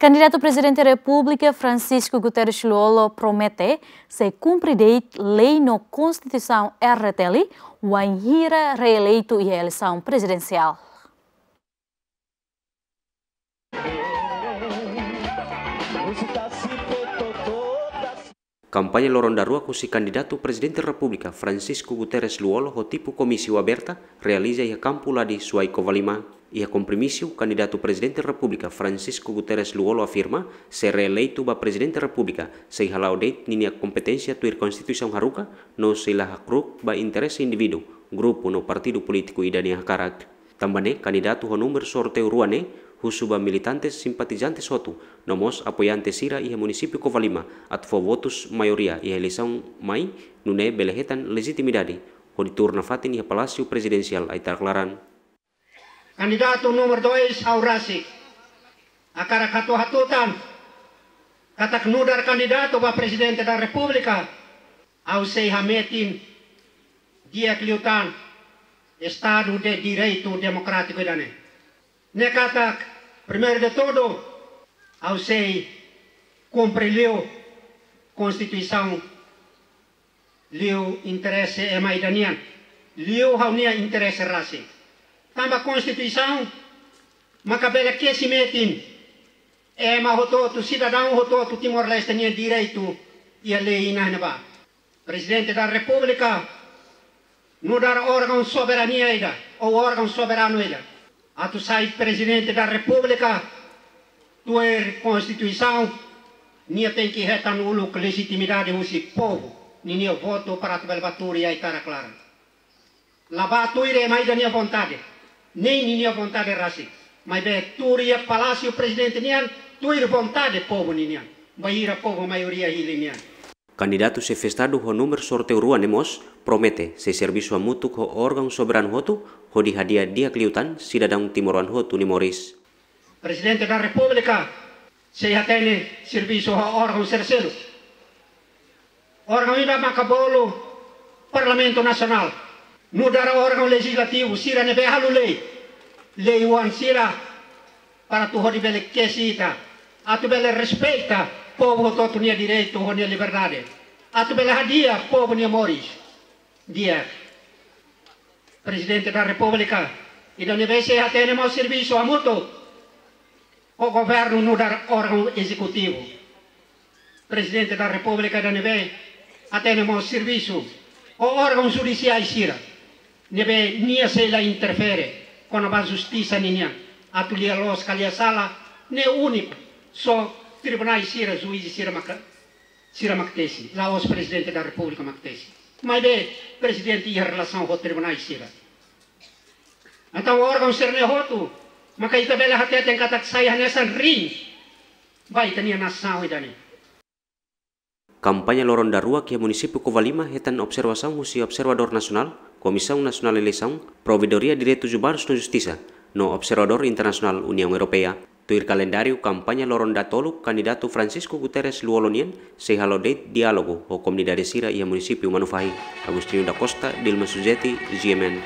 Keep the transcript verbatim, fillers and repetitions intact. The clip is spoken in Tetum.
Kandidatu Prezidente Repúblika Francisco Guterres Lú-Olo promete sei kumpre de'it lei no Konstituisaun R T L wainhira reeleitu iha eleisaun prezidensiál. Kampaña loron daruak husi kandidatu Prezidente Repúblika Francisco Guterres Lú-Olo ho tipu komísiu aberta realiza iha kampu Ladi, Suai, Covalima. Iha kompromisu, kandidatu Prezidente Repúblika Francisco Guterres Lú-Olo afirma, se reeleitu ba Prezidente Repúblika, sei hala'o de'it ninia kompeténsia tuir Konstituisaun haruka, no sei la hakru'uk ba interese indivíduu, grupu no partidu polítiku ida nia hakarak. Tanba ne'e, kandidatu ho númeru sorteiu rua ne'e husu ba militantes, simpatizantes hotu, no mós apoiante sira iha munisípiu Covalima atu fó votus maioria iha eleisaun mai, nune'e bele hetan lejitimidade hodi tuur nafatin iha Palásiu Prezidensiál Aitarak Laran. Kandidatu númeru dois, ha'u rasik hakarak hato'o hatutan katak nu'udar kandidatu ba Prezidente da Repúblika, ha'u sei hametin di'ak liután Estadu de Direitu Demokrátiku ida-ne'e. Ne'e katak, primeiru de tudu, ha'u sei kumpre liu Konstituisaun, liu interese ema ida nian, liu ha'u-nia interese rasik. Tanba Konstituisaun maka bele kesi metin ema hotu-hotu, sidadaun hotu-hotu Timor-Leste nia direitu iha lei iha ne'ebá. Prezidente da Repúblika nu'udar órgaun soberania ida, ou órgaun soberanu ida. Atu sai Prezidente da Repúblika tuir Konstituisaun, nia tenke hetan uluk lejitimidade husi povu ninia votu para atu bele bá tuur iha Aitarak Laran. La bá tuir ema ida nia vontade, nein ninia vontade rasik. Maibé tuur iha Palásiu Prezidente nian tuir vontade povu ninian, bainhira povu maioria hili nian. Kandidatu Xefe Estadu ho númeru sorteiu rua ne'e mós promete sei servisu hamutuk ho órgaun soberanu hotu hodi hadi'a di'ak liután sidadaun timoroan hotu nia moris. Prezidente da Repúblika sei hatene servisu ho órgaun sira seluk. Órgaun ida maka bolu Parlamentu Nasionál, nu'udar órgaun lejizlativu, sira ne'ebé halo lei, lei-oan sira, para atu hodi bele kesi ita, atu bele respeita povu hotu-hotu nia direitu ho nia liberdade, atu bele hadi'a povu nia moris di'ak. Prezidente da Repúblika ida ne'ebé sei hatene mós servisu hamutuk ho governu nu'udar órgaun ezekutivu. Prezidente da Repúblika ida ne'ebé hatene mós servisu ho órgaun judisiál sira, ne'ebé nia sei la interfere kona-ba justisa ninian, atu lia loos ka lia sala, ne'e úniku só tribunál sira, juís sira maka, sira mak tesi, la'ós Prezidente da Repúblika mak tesi. Maibé Prezidente iha relasaun ho tribunál sira. Entaun órgaun sira-ne'e hotu maka ita bele hateten katak sai hanesan rin ba ita-nia nasaun ida-ne'e. Kampaña loron daruak iha munisípiu Covalima hetan observasaun husi observadór nasionál, Komisaun Nasionál Eleisaun, Provedoria Direitus Umanus no Justisa, no observadór internasionál, Uniaun Europeia. Tuir kalendáriu kampaña loron datoluk, kandidatu Francisco Guterres Lú-Olo nian sei halo de'it diálogu ho komunidade sira iha munisípiu Manufahi. Agostinho da Costa, Dilma Suzeti, G M N.